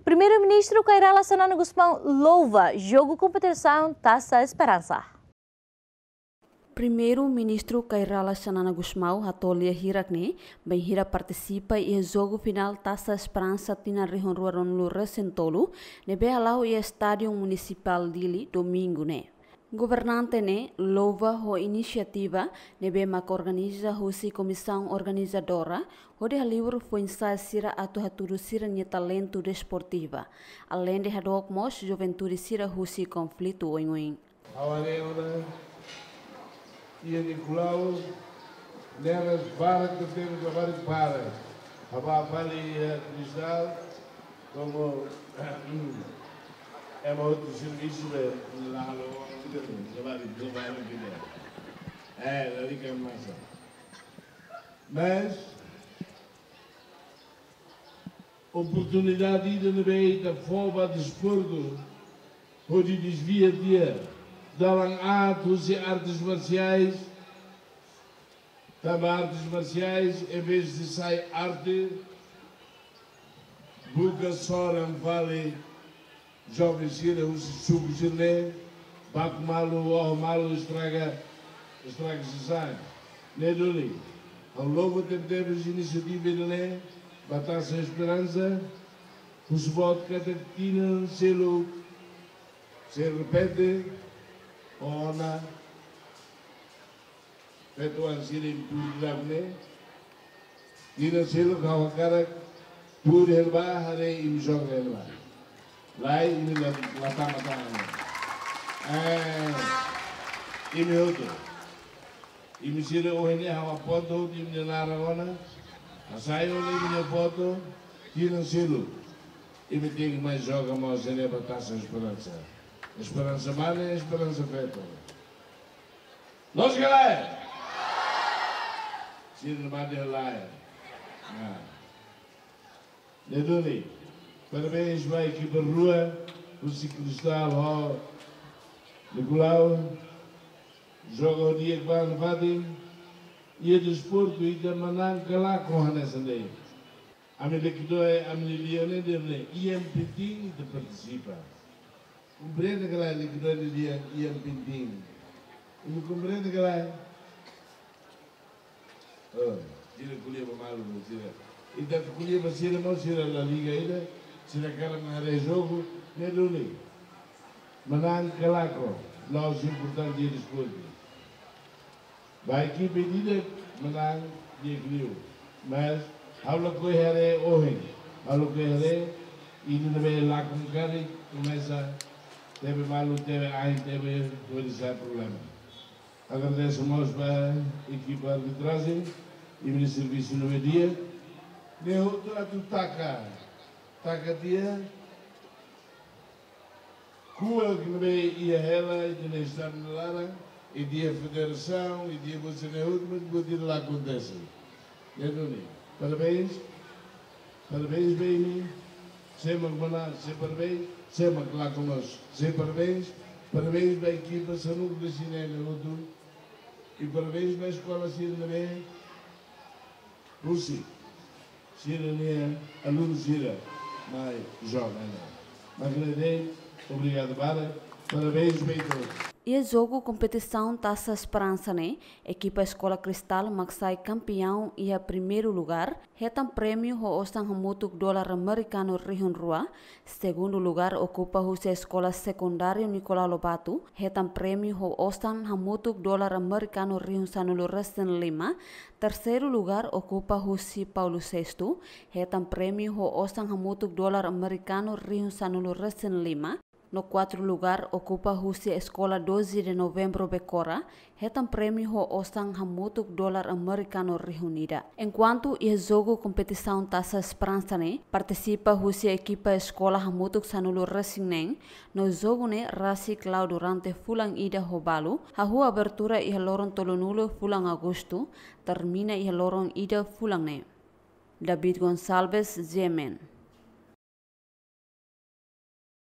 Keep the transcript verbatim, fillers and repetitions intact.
Primeiru-Ministru Kay Rala Xanana Gusmão louva jogu kompetisaun Taça Esperança. Primeiru-Ministru Kay Rala Xanana Gusmão hato'o lia hirak ne'e, bainhira partisipa iha jogu finál Taça Esperança tinan rihun rua ruanulu resin tolu, ne'ebé hala'o iha Estádiu Munisipál Dili, Domingu ne'e. Governante ne'e louva ho inisiativa ne'ebé mak organiza husi komisaun organizadora, hodi halibur foin-sa'e sira atu hatudu sira-nia talentu desportiva. Aleinde hadook mós juventude sira husi konflitu oin-oin. Ha'u haree ona, iha Nicolau, neras barak tebes, barak para. Ha'u bá fali iha Cristal, komu ema hotu servisu be, la halo, la bá, la bá, la bá. Eh, la liga masa. Mas, oportunidade ida ne'ebé ita fó ba desportu, hodi dezvia tiha dalan aat husi artes marsiais, tanba artes marsiais, em vez de sai arte, buka soran fali, joven sira husi suku sira-ne'e, baku malu, oho malu, estraga, estraga sasán. Ne'e duni, ha'u louva tebetebes inisiativa ida-ne'e, ba Taça Esperança, husu boot katak tinan seluk, sei repete, ona, feto-oan sira iha Dili ne'e, tinan seluk ha'u hakarak tuur hela ba, haree imi joga hela ba. Lae, imi la, la tama tama. Eh, imi hotu. Imi sira ohin ne'e ha'u aponta hotu imi-nia naran ona. Hasai ona imi-nia foto, tinan seluk. Imi tenke mai joga mós ne'e ba Taça Esperança. Esperança mane, Esperança feto. Loos ka lae? Sira mate lae. Nah. Ne'e duni, parabéns ba ekipa rua, husi Cristal ho Nicolau, joga ho di'ak ba nafatin, iha desportu ita manán ka lakon hanesan de'it. Ami lekidoi, ami-nia lian ne'e dehan ne'e, iha Pintin ita partisipa. Komprende ka lae, lekidoi nia lian iha Pintin? Imi komprende ka lae? Oh, sira ko'alia ba malu, sira. Ita ko'alia ba sira mós, sira la liga ida, sira hakarak mak haree jogu, ne'e duni. Manán ka lakon, la'ós importante iha desportu. Ba ekipa ida manán di'ak liu. Mas, ha'u lakohi haree ohin, ha'u lakohi haree, ida ne'ebé lakon karik, komesa tebe malu, tebe ain, tebe hodi sai problema. Agradese mós ba ekipa arbitrajen, imi-nia servisu ne'ebé di'ak. Ne'e hotu atu taka, taka tiha kuak ne'ebé iha hela, ita-nia estadu nia laran, ita-nia federasaun, ita-nia buat sira-ne'e hotu, mas buat ida la akontese. Ne'e duni. Parabéns. Parabéns ba imi. Sé mak manán, sé parabéns. Sé mak lakon mós, sé parabéns. Parabéns ba ekipa sanulu-resin-neen hotu. I parabéns ba eskola sira ne'ebé husi sira-nia alunu sira mai joga ne'e. Mak ne'e de'it, obrigadu barak. Parabéns ba ita hotu. Iha jogu kompetisaun Taça Esperança ne'e, ekipa Eskola Cristal mak sai kampiaun iha primeiru lugar, hetan prémiu ho osan hamutuk dolar amerikanu rihun rua, segundu lugar okupa husi Eskola Sekundáriu Nicolau Lobato, hetan prémiu ho osan hamutuk dolar amerikanu rihun sanulu-resin-lima, terseiru lugar okupa husi Paulo Sexto, hetan prémiu ho osan hamutuk dolar amerikanu rihun sanulu-resin-lima, no kuartu lugar okupa husi Eskola Doze de Novembro Becora, hetan prémiu ho osan hamutuk dolar amerikanu rihun ida. Enkuantu iha jogu kompetisaun Taça Esperança ne'e, partisipa husi ekipa eskola hamutuk sanulu-resin-neen, no jogu ne'e rasik la'o durante fulan ida ho balu, hahú abertura iha loron tolunulu fulan Agostu, termina iha loron ida fulan ne'e. David Gonçalves, G M N.